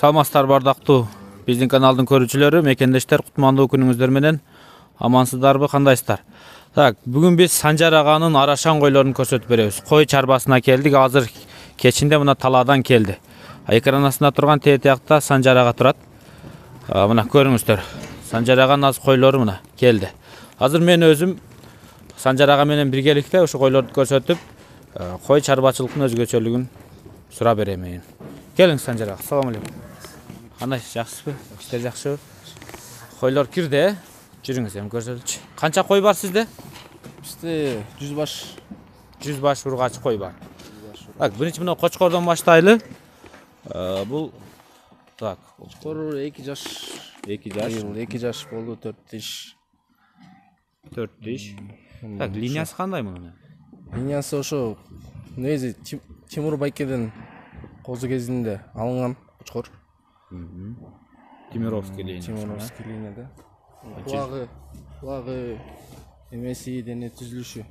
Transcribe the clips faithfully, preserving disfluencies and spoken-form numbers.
Саламатсыздарбы бардактуу биздин каналдын көрүүчүлөрү, мекендештер, кутмандуу күнүңүздөр менен амансыздарбы, кандайсыздар? Так, бүгүн биз Санжар аганын арашан койлорун көрсөтүп беребиз. Кой чарбасына келдик. Азыр кечинде мына талаадан келди. Экран астында турган тээ тиякта Санжар ага турат. Мына көрүңүздөр. Санжар аганын аз койлору мына келди. Азыр мен өзүм Санжар ага менен биргеликте ушу койлорду көрсөтүп, кой чарбачылыктын өзгөчөлүгүн сурап беремин. Келиңиз Санжар ага. Салам алейкум. Кандай, жакшысызбы? Иштер жакшыбы? Койлор кирди, э? Жүрүңүз, эми көрсөтүлчү. Канча кой бар сизде? Бизде жүз баш. жүз баш ургач кой бар. Так, биринчи мына кочкордон баштайлы. Бул так, Кочкор эки жаш. эки жаш. эки жаш болду, төрт тиш. төрт тиш. Так, линиясы кандай мунун? Линиясы ошо негизи Тимур Байкеден козу кезинде алынган кочкор. Тимировский линия. Тимировский линияда. Кулагы, кулагы эмеси, дене түзүлүшү.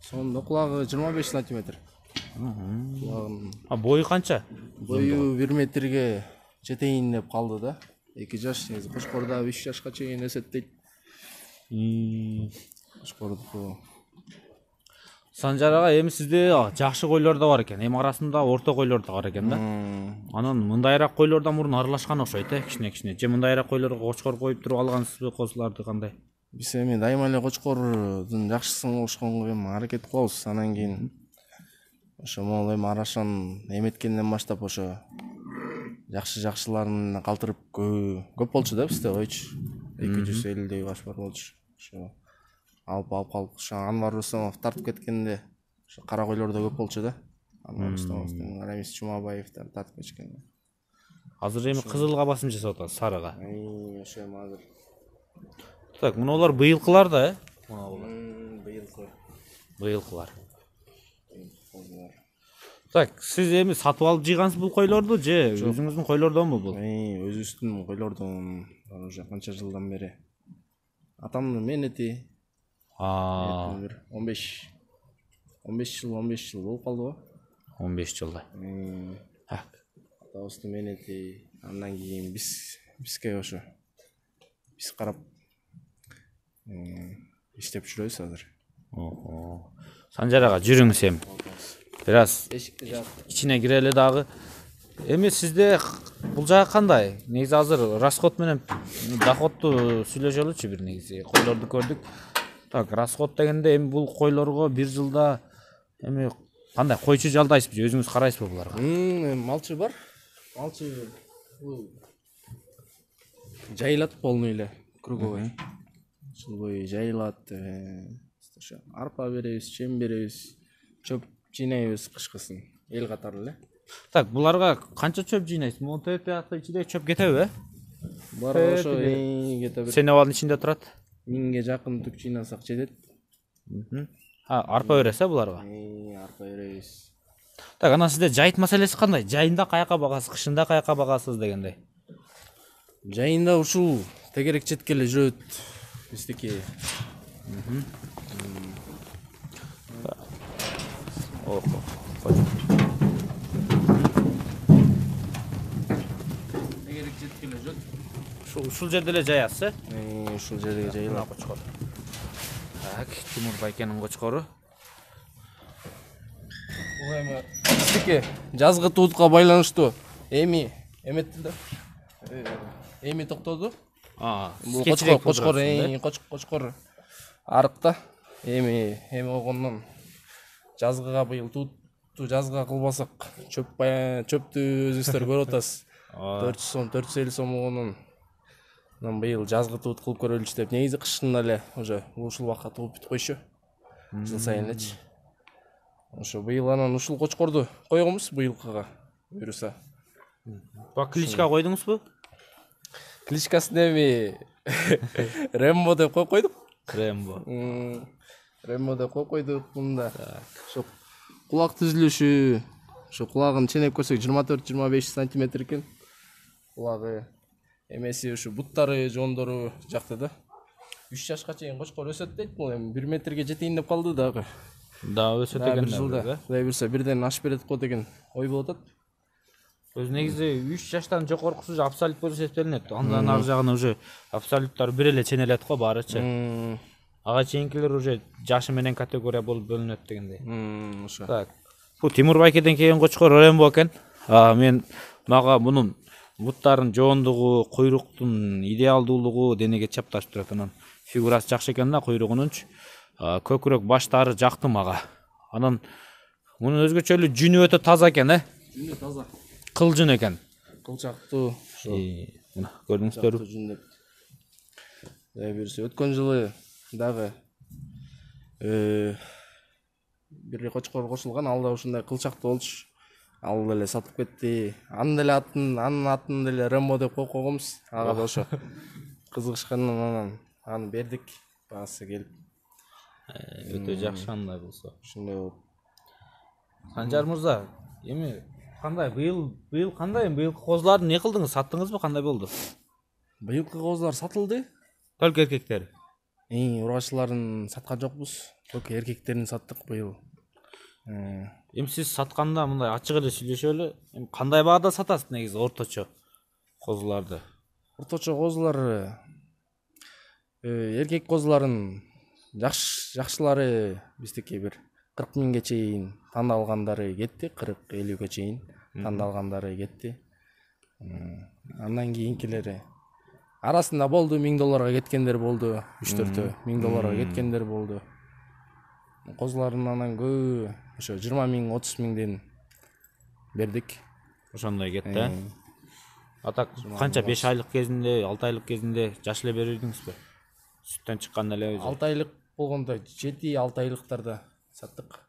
Сонда кулагы жыйырма беш сантиметр. А бою канча? Бою бир метрге жетейин деп калды да. эки жаш, негизи кочкорда үч жашка чейин өсөт дейт. Кочкордуку. Санжар ага, эми сизде жакшы койлор да бар экен, эми арасында орто койлор да бар экен да. Анан мындайраак койлордон мурун аралашкан окшойт, э, кичине-кичине. Же мындайраак койлорго кочкор коюп туруп алгансызбы, козуларды кандай? Биз эми дайыма эле кочкордун жакшысын болушконго эми аракет кылабыз. Анан кийин ошо могул эми арашан эметкенден баштап ошо жакшы-жакшыларын калтырып көп болчу да бизде койчу. эки жүз элүүдөй баш бар болчу. Ошо алып алып калып, ошо Анвар Рустамов тартып кеткенде ошо кара койлор да көп болчу да. Анвар Рустамовдун, Рамис Чумабаевдер тартып кеткенде. Азыр эми кызылга басым жасап атат, сарыга. Ай, ошо эми азыр. Так, мунулар быйылкылар да, э? Мунулар. Быйылкы. Быйылкылар. Так, сиз эми сатып алып жыйгансыз бул койлорду же өзүңүздүн койлордонбу бул? Ай, өзүбүздүн койлордон уже канча жылдан бери. Атамдын менети. А, он беш он беш жыл, он беш жыл болуп калды го. он беш жылда. Так. Атабыздын менети, андан кийин биз бизге ошо биз карап иштеп жүрөбүз азыр. Ого. Санжар ага, жүрүңүз эми. Бир аз Эшикти жаап ичине кирели дагы. Эми сизде бул жагы кандай? Негизи азыр расход менен доходду сүйлөшөлүчү бир негизи. Койлорду көрдүк. Так, расход дегенде эми бул койлорго бир жылда эми кандай койчу жалдайсызбы, өзүңүз карайсызбы буларга? Эми малчы бар. Малчы бул жайылат полный эле, круговой. Жыл бою жайылат. Ошо арпа беребиз, чем беребиз, чөп жыйнайбыз кышкысын. Эл катары эле. Так, буларга канча чөп жыйнайсыз? Могу тээ тиякта ичиде чөп кетеби, э? Буларга ошо кете бир Сенебалдын ичинде турат. миңге жакын түк жыйнасак жетет. А, арпа бересиз, э, буларга? Эй, арпа беребиз. Так, анан сизде жайыт маселеси кандай? Жайында каяка багасыз, кышында каяка багасыз дегендей? Жайында ушул тегерек четке эле жүрөт биздики. Ого. Тегерек четке эле жүрөт. Ушул ушул жерде эле жаясыз, э? Эй, ушул жерге жайылат. Кочкор. Так, Тимур Байкенин кочкору. Бул эми биздики жазгы туутка байланыштуу эми эметти да. Эми токтоду. А, Бул кочкор, кочкор, эй, кочкор арыкта. Эми эми болгондон жазгыга быйыл тууту жазгыга кылбасак, чөп чөптү өзүңүздөр көрүп атасыз. төрт жүз сом, төрт жүз элүү сом болгондон анан быйыл жазгы туут кылып көрөлүчү деп. Негизи кышында эле уже ушул убакка тугуп бүтүп койчу. Жыл сайын элечи. Ошо быйыл анан ушул кочкорду койгонбуз быйылкыга буюрса. Ба кличка койдуңузбу? Кличкасын эми Рембо деп коюп койдук. Рембо. Рембо деп коюп койдук мында. Ошо кулак түзүлүшү, ошо кулагын ченеп көрсөк жыйырма төрт жыйырма беш сантиметр экен. Кулагы эмеси ушу буттары, жондору жакты да. үч жашка чейин кочкор өсөт дейт. Бул эми бир метрге жетейин деп калды дагы. Да, өсөт деген да. Кудай буюрса бирден ашып берет го деген ой болуп атат. Өз негизи үч жаштан жогоркусу абсолют болуп эсептелинет. Андан ары жагына уже абсолюттар бир эле ченелет го баарычы. Ага чейинкилер уже жашы менен категория болуп бөлүнөт дегендей. Ошо. Так. Бу Тимур Байкеден келген кочкор Рембо экен. А мен мага мунун буттарын жоондугу, куйруктун идеалдуулугу денеге чапташып турат. Анан фигурасы жакшы экен да куйругунунчу. Көкүрөк баштары жакты мага. Анан мунун өзгөчөлүгү жүнү өтө таза экен, э? Жүнү таза. Кыл жүн экен. Кылчактуу. Ошо. Мына көрдүңүздөрбү? Жүнү. Дай берсе өткөн жылы дагы э бир кочкор кошулган, ал да ушундай кылчактуу болчу. Ал деле сатып кетти. Анын деле атын, анын атын деле Рембо деп коюп койгонбуз. Ага да ошо кызыгышкандан анан аны бердик. Баасы келип. Өтө жакшы андай болсо. Ушундай болуп. Санжар мырза, эми кандай быйыл быйыл кандай быйылкы козуларды не кылдыңыз? Саттыңызбы? Кандай болду? Быйылкы козулар сатылды. Только эркектер. Эң ургачыларын саткан жокпуз. Только эркектерин саттык быйыл. Эми сиз сатканда мындай ачык эле сүйлөшөлү. Эми кандай баада сатасыз негизи орточо козуларды? Орточо козулар эркек козуларын жакшы жакшылары биздики бир кырк миңге чейин тандалгандары кетти, кырк элүүгө чейин тандалгандары кетти. Андан кийинкилери арасында болду, миң долларга кеткендер болду, үч төртөө миң долларга кеткендер болду. Козулардын анан көбү ошо жыйырма миң, отуз миңден бердик. Ошондой кетти. А так канча беш айлык кезинде, алты айлык кезинде жаш эле бердиңизби? Сүттөн чыккан эле өзү. алты айлык болгондо жети алты айлыктарда саттык.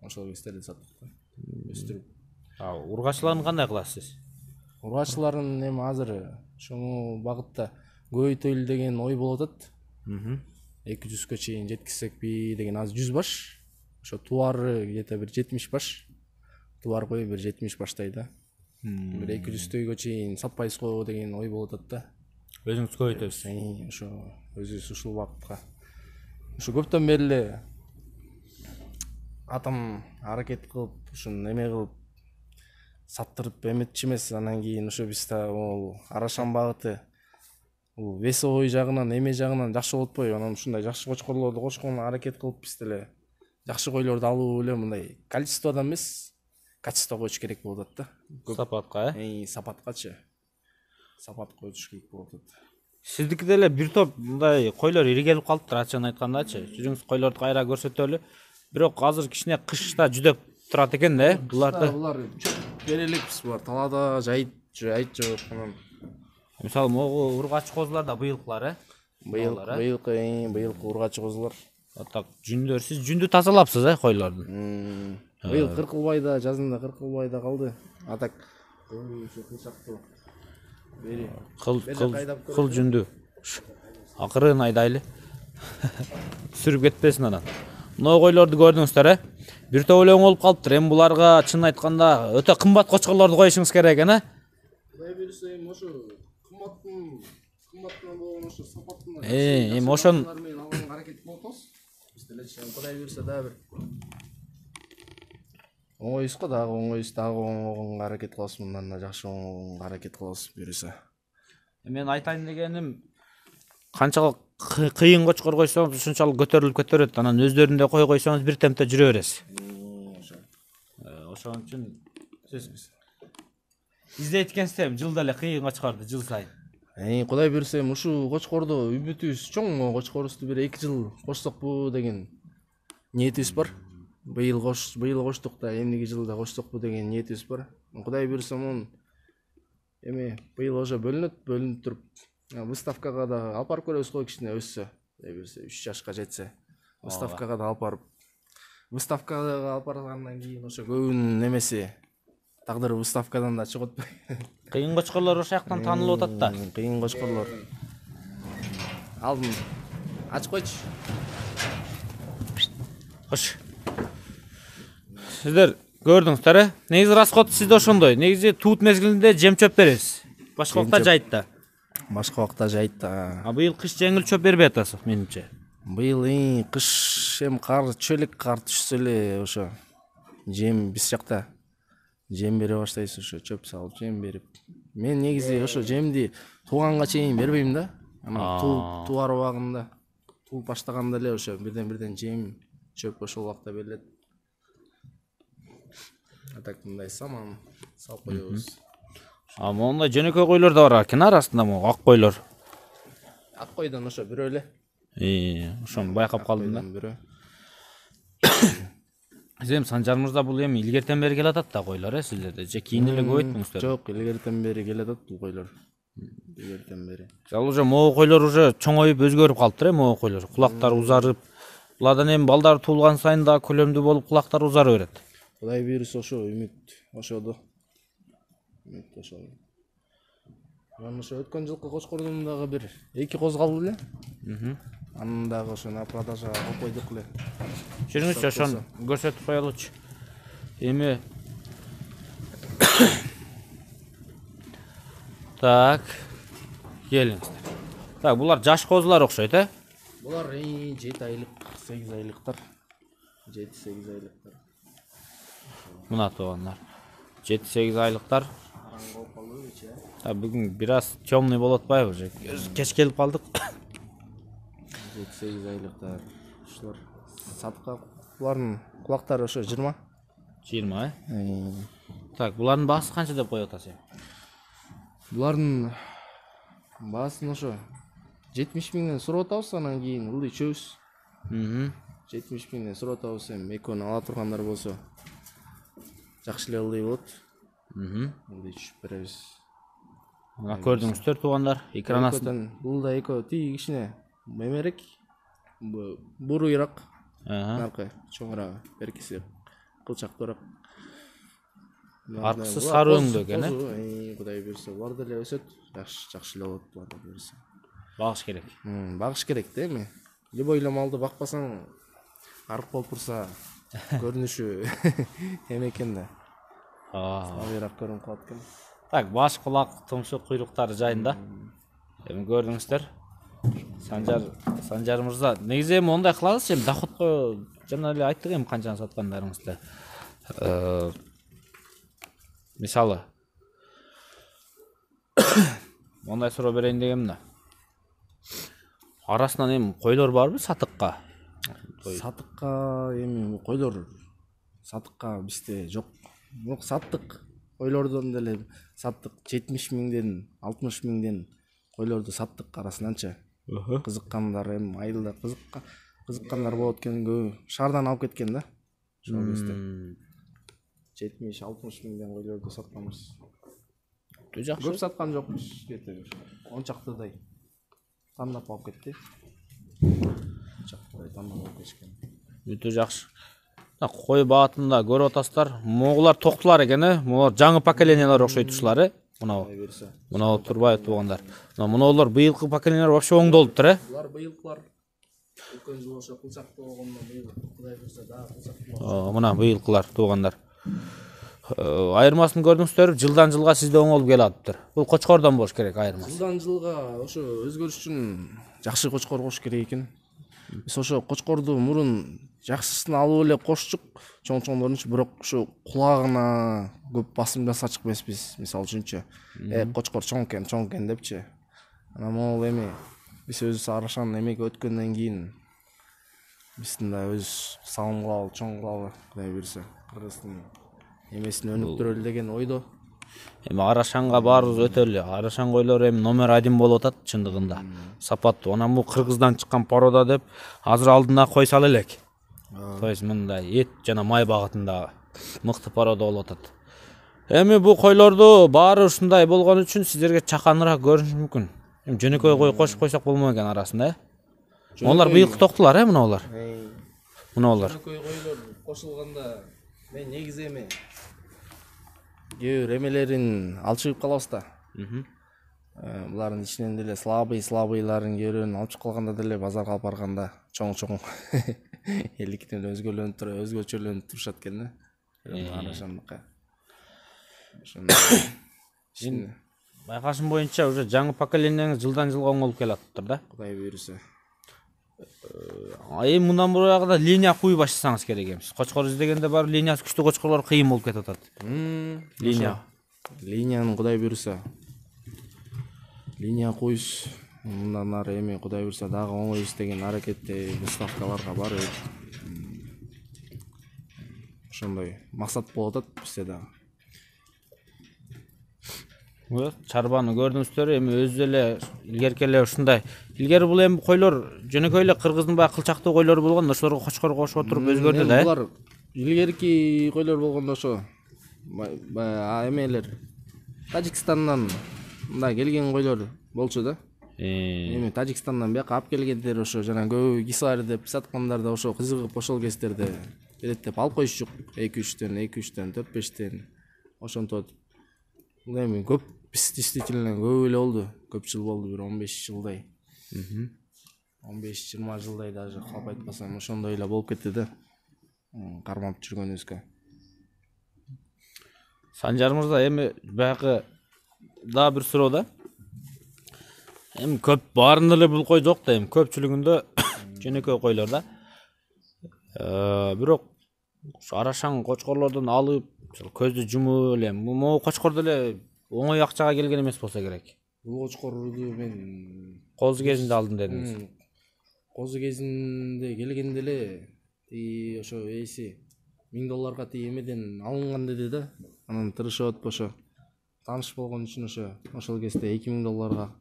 Ошол кездерде саттык. Өстүрүп. А ургачыларын кандай кыласыз? Ургачыларын эми азыр ушул багытта көбөйтөлү деген ой болуп атат. эки жүзгө чейин жеткизсекпи деген, азыр жүз баш. Ошо туары где-то бир жетимиш баш. Туар коюп бир жетимиш баштай да. Бир эки жүзгө чейин сатпайсызго деген ой болуп атат да. Өзүңүз көбөйтөсүз. Ошо өзүбүз ушул багытка. Ошо көптөн бери эле атам аракет кылып, ушун эме кылып саттырып эметчи эмес. Анан кийин ошо биз да ол арашан багыты бул весовой жагынан, эме жагынан жакшы болуп атпайбы? Анан ушундай жакшы кочкорлорду кошконго аракет кылып биз деле жакшы койлорду алуу эле мындай количестводон эмес, качество койуш керек болуп атат да. Сапатка, э? Сапаткачы. Сапат коюш керек болуп атат. Сиздики деле бир топ мындай койлор иригелип калыптыр, ачыгын айткандачы. Жүзүңүз койлорду кайра көрсөтөлү. Бирок азыр кичине кышта жүдөп турат экен да, буларды. Булар береликпиз, булар талаада жайыт, жайыт жок. Анан мисалы могу ургач козулар да быйылкылар, э? Быйыл, быйылкы, быйылкы ургач козулар. Так, жүндөр, сиз жүндү тазалапсыз, э, койлордун? Быйыл Кыркылбайда, жазында Кыркылбайда калды. А так ошо кылчактуу. Бери. Кыл кыл кыл жүндү. Акырын айдайлы. Сүрүп кетпесин анан. Мына койлорду көрдүңүздөр, э? Бир топ эле болуп калыптыр. Эми буларга чын айтканда өтө кымбат кочкорлорду коюшуңуз керек экен, э? Кудай берсе, ошо кымбаттын кымбаттан болгон ошо сапаттын. Э, эми ошон алганга аракет кылып атабыз. Биз деле кудай берсе дагы бир оңойбуз го, дагы оңойбуз, дагы оңойгонго аракет кылабыз, мындан да жакшы оңойгонго аракет кылабыз берсе. Мен айтайын дегеним, канчалык кыйын кочкор койсоңуз ушунчалык көтөрүлүп кетерет. Анан өздөрүндө кой койсоңуз бир темпте жүрө бересиз. Ошон үчүн сиз издейт экенсиз жылда эле кыйын кочкорду жыл сайын. Э, кудай берсе, ушул кочкорду үмүтүбүз чоң, кочкорубузду бир эки жыл кочсокпу деген ниетибиз бар. Быйыл кош, быйыл коштук да, эмдиги жылда кочсокпу деген ниетибиз бар. Кудай берсе, мун эми быйыл уже бөлүнөт, бөлүнүп туруп, выставкага да алып барып көрөбүз го, кичине өссө, кудай берсе, үч жашка жетсе, выставкага да алып барып, выставкага алып баргандан кийин ошо көбүнүн эмеси тагдыры выставкадан да чыгып атпайбы. Кыйын кочкорлор ошол жактан таанылып атат да. Кыйын кочкорлор. Алдын ачып койчу. Хош. Сиздер көрдүңүздөр, э? Негизи расход сизде ошондой. Негизи туут мезгилинде жем чөп бересиз. Башка убакта жайытта. Башка убакта жайытта. А быйыл кыш жеңил чөп бербей атасыз, менимче. Быйыл эң кыш эми кар, чөлөк кар түшсө эле ошо жем биз жакта жем бере баштайсыз, ошо чөп салып жем берип. Мен негизи ошо жемди тууганга чейин бербейм да. Ана тууп туар убагында, тууп баштаганда эле ошо бирден-бирден жем, чөп ошол убакта берилет. А так мындай саман салып коебуз. А мондай жөнөкөй койлор да бар экен арасында, могу ак койлор. Ак койдон ошо бирөө эле. Ии, ошону байкап калдым да. Бирөө. Эми Санжар мырза, бул эми илгертен бери келатат да койлор, э, силерде? Же кийин эле көбөйттүңүздөр? Жок, илгертен бери келатат бул койлор. Илгертен бери. Ал уже могу койлор уже чоңоюп өзгөрүп калыптыр, э, могу койлор. Кулактары узарып, буладан эми балдар туулган сайын да көлөмдүү болуп кулактары узара берет. Кудай буйруса ошо үмүт ошодо. Үмүт ошо. Мен ошо өткөн жылкы кочкордун дагы бир эки коз калды эле. Мм. Анын дагы ошо на продажага алып койдук эле. Жүрүңүзчү, ошону көрсөтүп коелучу. Эми так, келиңиздер. Так, булар жаш козулар окшойт, э? Булар жети айлык, сегиз айлыктар. жети сегиз айлыктар. Мына туугандар. жети сегиз айлыктар. Караңгы болуп калдыбычы, э? А бүгүн бир аз темный болуп атпайбы уже? Кеч келип калдык. жети сегиз айлыктар. Ушулар сатка, булардын кулактары ошо жыйырма. жыйырма, э? Так, булардын баасы канча деп коюп атасың? Булардын баасын ошо жетимиш миңден сурап атабыз, анан кийин ылдый чөбүз. Мм. жетимиш миңден сурап атабыз, эми экөөнү ала тургандар болсо жакшы эле ылдый болот. Мм. Ылдый түшүп беребиз. Мына көрдүңүздөр туугандар, экран астында. Бул да экөө тиги кичине мемерек, буруйраак, Ага. наркы чоңураак, беркиси кылчактуураак. Аркысы сары өңдүү экен, э? Кудай буйруса, булар деле өсөт. Жакшы, жакшы эле болот булар да буйруса. Багыш керек. Багыш керек да эми. Любой эле малды бакпасаң, арык болуп турса, көрүнүшү эме экен да. А. Слабыйраак көрүнүп калат экен. Так, баш, кулак, тумшук, куйруктары жайында. Эми көрдүңүздөр. Санжар, Санжар мырза, негизи эми мондай кылабыз, эми доходко жана эле айттык эми канчаны саткандарыңызды. Э, мисалы мондай суроо берейин дегем да. Арасынан эми койлор барбы сатыкка? Сатыкка эми койлор сатыкка бизде жок. Бирок саттык. Койлордон деле саттык жетимиш миңден, алтымыш миңден койлорду саттык арасынанчы. Кызыккандар эми айылда кызыкка кызыккандар болот экен, көбү шаардан алып кеткен да. Ошол кезде жетимиш алтымыш миңден койлорду сатканбыз. Жакшы. Көп саткан жокпуз, жети он чактыдай тандап алып кетти. он чактыдай тандап алып кетишкен. Өтө жакшы. Кой баатында көрүп атасыздар. Могулар токтулар экен, э? Могулар жаңы поколениялар окшойт ушулар, э? Мына. Мына турбай тургандар. Мына мунулар быйылкы поколениялар вообще оңдолуптур, э? Булар быйылкылар өткөн жыл ошо кылчактуу болгондон быйыл Кудай буйруса дагы кылчактуу. Мына быйылкылар туугандар. Айырмасын көрдүңүздөр, жылдан жылга сизде оңолуп келатыптыр. Бул кочкордон болуш керек айырмасы. Жылдан жылга ошо өзгөрүш үчүн жакшы кочкор кош керек экен. Биз ошо кочкорду мурун жакшысын алып эле кошчук, чоң-чоңдорунчу, бирок ошо кулагына көп басым жасачык эмеспиз. Мисалы үчүнчү, э кочкор чоң экен, чоң экен депчи. Анан могул эми биз өзүбүз арашан эмеге өткөндөн кийин биздин да өз салым кылалы, чоң кылалы, Кудай буйруса. Кыргыздын эмесин өнүктүрөлү деген ойдо. Эми Арашанга баарыбыз өтөлү. Арашан койлор эми номер один болуп атат чындыгында. Сапаттуу. Анан бул Кыргыздан чыккан порода деп азыр алдына кой сала элек. То есть мындай эт жана май багытында мыкты порода болуп атат. Эми бул койлорду баары ушундай болгон үчүн сиздерге чаканыраак көрүнүшү мүмкүн. Эми жөнөкөй кой кошуп койсок болмок экен арасында, э? Монолар быйылкы токтулар, э, мунулар. Мунулар. Жөнөкөй койлор кошулганда мен негизи эми кээ бир эмелерин алчыгып калабыз да. Булардын ичинен деле слабый слабыйларын кээ бирин алып чыгып калганда деле базарга алып барганда чоң-чоң элдиктен өзгөлөнүп туруп, өзгөчөлөнүп турушат экен да. Арашандыкка. Ошондой. Байкашым боюнча уже жаңы поколениеңиз жылдан жылга оңолуп келатыптыр да. Кудай буйруса. эми мындан бурагы линия куюп баштасаңыз керек эмес. Кочкор издегенде бар линиясы күчтүү кочкорлор кыйын болуп кетип атат. Линия. Линияны Кудай буйруса. Линия куюш мындан ары эми Кудай буйруса дагы оңой издеген аракетте выставкаларга барып ошондой максат болуп атат бизде дагы. Чарбаны көрдүңүздөр, эми өзү эле илгерки эле ушундай. Илгери бул эми койлор жөнөкөй эле кыргыздын баягы кылчактуу койлору болгон, ошолорго кочкор кошуп отуруп өзгөрдү да. Булар илгерки койлор болгондо ошо баягы эмелер Тажикстандан мындай келген койлор болчу да. Эми Тажикстандан бияка алып келгендер ошо жана көбү кислар деп саткандар да ошо кызыгып ошол кездерде келет деп алып коюшчук. эки үчтөн, эки үчтөн, төрт бештен ошентип. Бул эми көп действительно көп эле болду. Көп жыл болду, бир он беш жылдай. он беш жыйырма жылдай даже калп айтпасам ошондой эле болуп кетти да. Кармап жүргөнүбүзгө. Санжар мырза, эми баягы дагы бир суроо да. Эми көп баарында эле бул кой жок да, эми көпчүлүгүндө жөнөкөй койлор да. Э, бирок арашаң кочкорлордон алып, көздү жумуп эле, могу кочкор деле оңой акчага келген эмес болсо керек. Бул кочкорду мен Козу кезинде алдым дедиңиз. Козу кезинде келгенде эле и ошо эси миң долларга тиги эмеден алынган деди да. Анан тырышып атып ошо тааныш болгон үчүн ошо ошол кезде эки миң долларга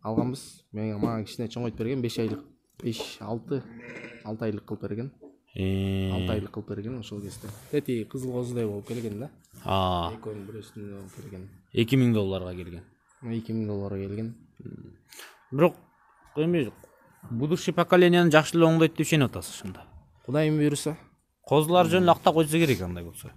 алганбыз. Мен мага кичине чоңойтуп берген, беш айлык, беш алты алты айлык кылып берген. алты айлык кылып берген ошол кезде. Тети кызыл козудай болуп келген да. А. Экөөнүн бир үстүнө болуп келген. эки миң долларга келген. эки миң долларга келген. Бирок эми будущий поколенияны жакшы эле оңдойт деп ишенип атасыз ошондо. Кудайым буйруса. Козулар жөнүн акта койсо керек андай болсо.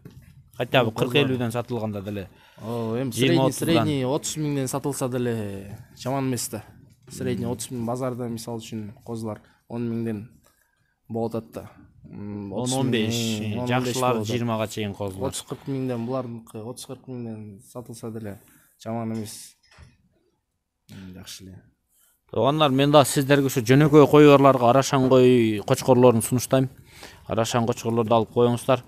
Хотя бы кырк элүүдөн сатылганда деле. О, эми средний средний отуз миңден сатылса деле жаман эмес да. Средний отуз миң базарда мисалы үчүн козулар он миңден болот атат да. он он беш, жакшылар жыйырмага чейин козулар. отуз кырк миңден булардыкы отуз кырк миңден сатылса деле жаман эмес. Жакшы эле. Туугандар, мен да сиздерге ушу жөнөкөй койгорлорго арашаң кой кочкорлорун сунуштайм. Арашаң кочкорлорду алып коюңуздар.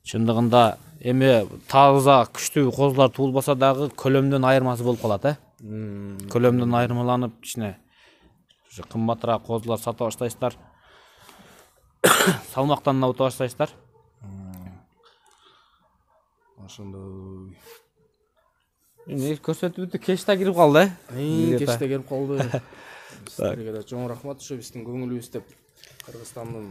Чындыгында эми таза күчтүү козулар туулбаса дагы көлөмдөн айырмасы болуп калат, э? Көлөмдөн айырмаланып кичине кымбатыраак козулар сата баштайсыздар. Салмактан абыта баштайсыздар. Ошондой. Эми көрсөтүүбүздү кеч да кирип калды, э? Кеч да кирип калды. Сиздерге да чоң рахмат ошо биздин көңүлүбүз деп Кыргызстандын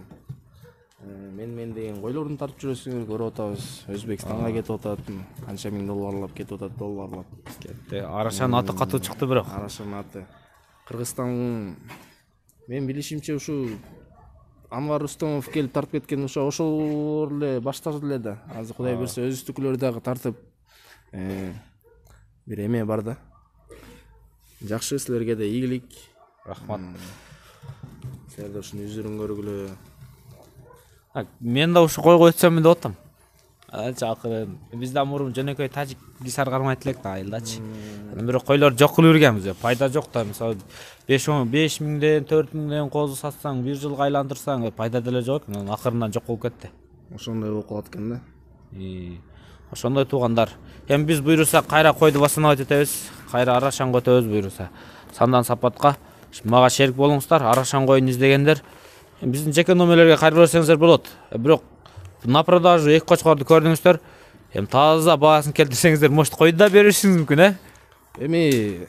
мен мен деген койлорун тартып жүрөсүңөр, көрүп атабыз. Өзбекстанга кетип атат, канча миң долларлап кетип атат, долларлап. Кетти. Арашанын аты катуу чыкты бирок. Арашанын аты. Кыргызстан мен билишимче ушу Анвар Рустомов келип тартып кеткен ошо ошолор эле баштады эле да. Азыр Кудай берсе өзүстүкүлөр дагы тартып бир эме бар да. Жакшы, силерге да ийгилик. Рахмат. Силер да ушуну үзүрүн көргүлө. Мен да ушу кой койсом деп атам. Анча акырын. Биз да мурун жөнөкөй тажик гисар кармайт элек да айылдачы. Бирок койлор жок кылып жүргөнбүз. Пайда жок да. Мисалы беш миңден төрт миңден козу сатсаң, бир жылга айландырсаң, пайда деле жок экен. Акырынан жок болуп кетти. Ошондой болуп калат экен да. Ошондой туугандар. Эми биз буйруса кайра койду басынабайт этебиз. Кайра арашаң өтөбүз буйруса. Сандан сапатка мага шерик болуңуздар. Арашаң койун издегендер биздин жеке номерлерге кайрып берсеңиздер болот. Бирок на продажу эки кочкорду көрдүңүздөр. Эми таза баасын келтирсеңиздер, может койду да беришиңиз мүмкүн, э? Эми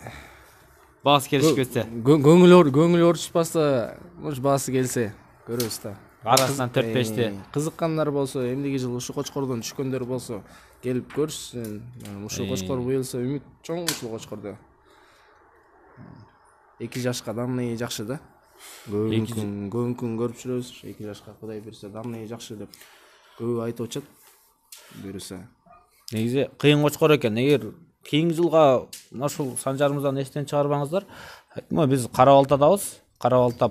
баасы келишип кетсе. Көңүл көңүл орчуспаса, может баасы келсе көрөбүз да. Арасынан төрт бешти. Кызыккандар болсо, эмдиги жыл ушу кочкордон түшкөндөр болсо, келип көрүшсүн. Ушу кочкор буюлса үмүт чоң ушул кочкордо. эки жашка данный жакшы да. Көңүн күн көрүп жүрөбүз. эки жашка Кудай берсе данный жакшы деп көп айтып атышат. Буюрса. Негизи кыйын кочкор экен. Эгер кийинки жылга ушул Санжарымыздан эстен чыгарбаңыздар. Айтма, биз Кара-Балтадабыз. Кара-Балта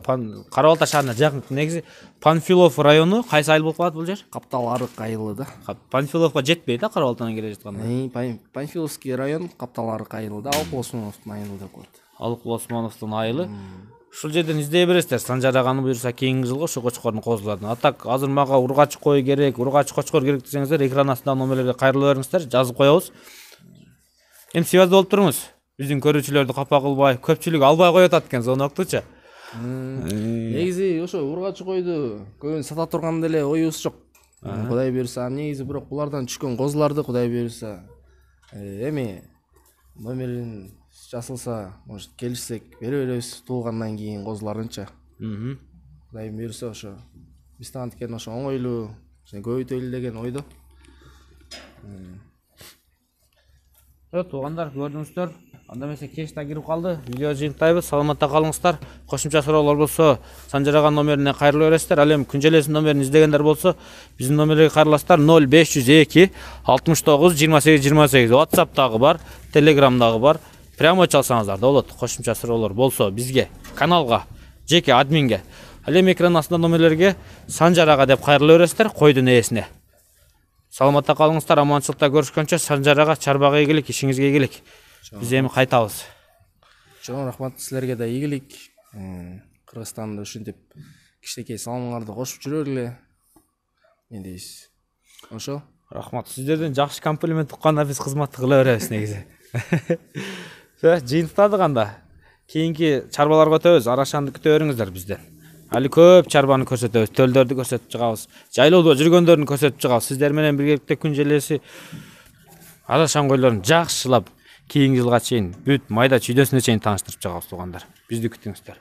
Кара-Балта шаарына жакын. Негизи Панфилов району кайсы айыл болуп калат бул жер? Каптал Арык айылы да. Панфиловго жетпейт да Кара-Балтадан келе жатканда. Панфиловский район, Каптал Арык айылы да, Алык Осмоновдун айылы деп коет. Алык Осмоновдун айылы. ушул жерден издей бересиздер. Санжар аганы буюрса кийинки жылга ошо кочкордун козуларын. А так азыр мага ургач кой керек, ургач кочкор керек десеңиздер, экран астындагы номерлерге кайрыла бериңиздер, жазып коебуз. Эми связь болуп туруңуз. Биздин көрүүчүлөрдү капа кылбай, көпчүлүк албай коюп атат экен звоноктучу. Негизи ошо ургач койду көбүн сата турган деле оюбуз жок. Кудай буюрса, негизи бирок булардан түшкөн козуларды Кудай буюрса эми номерин жасалса, может келишсек бере беребиз туулгандан кийин козуларынча. Кудай буюрса ошо биз анткен ошо оңойлуу көбөйтөлү деген ойдо. Туугандар, көрдүңүздөр. Анда эмесе кеч да кирип калды. Видео жыйынтайбыз. Саламатта калыңыздар. Кошумча суроолор болсо, Санжар ага номерине кайрыла бересиздер. Ал эми күнжелесин номерин издегендер болсо, биздин номерге кайрыласыздар. ноль беш жүз эки алтымыш тогуз жыйырма сегиз жыйырма сегиз. WhatsApp'тагы бар, Telegram'дагы бар. Прямо чалсаңыздар да болот. Кошумча суроолор болсо бизге, каналга, жеке админге. Ал эми экран астында номерлерге Санжар ага деп кайрыла бересиздер, койдун ээсине. Саламатта калыңыздар, аманчылыкта көрүшкөнчө. Санжар ага чарбага ийгилик, ишиңизге ийгилик. Биз эми кайтабыз. Чоң рахмат силерге да ийгилик. Кыргызстанда ушинтип кичинекей саламыңарды кошуп жүрөлү. Не дейсиз? Ошо. Рахмат. Сиздерден жакшы комплимент укканда биз кызматты кыла беребиз негизи. Жыйынтыктадык анда. Кийинки чарбаларга өтөбүз. Арашанды күтө бериңиздер бизден. Али көп чарбаны көрсөтөбүз, төлдөрдү көрсөтүп чыгабыз. Жайлоодо жүргөндөрүн көрсөтүп чыгабыз. Сиздер менен биргеликте күн желеси арашан койлорун жакшылап кийинки жылга чейин бүт майда чүйдөсүнө чейин тааныштырып чыгабыз туугандар. Бизди күтүңүздөр.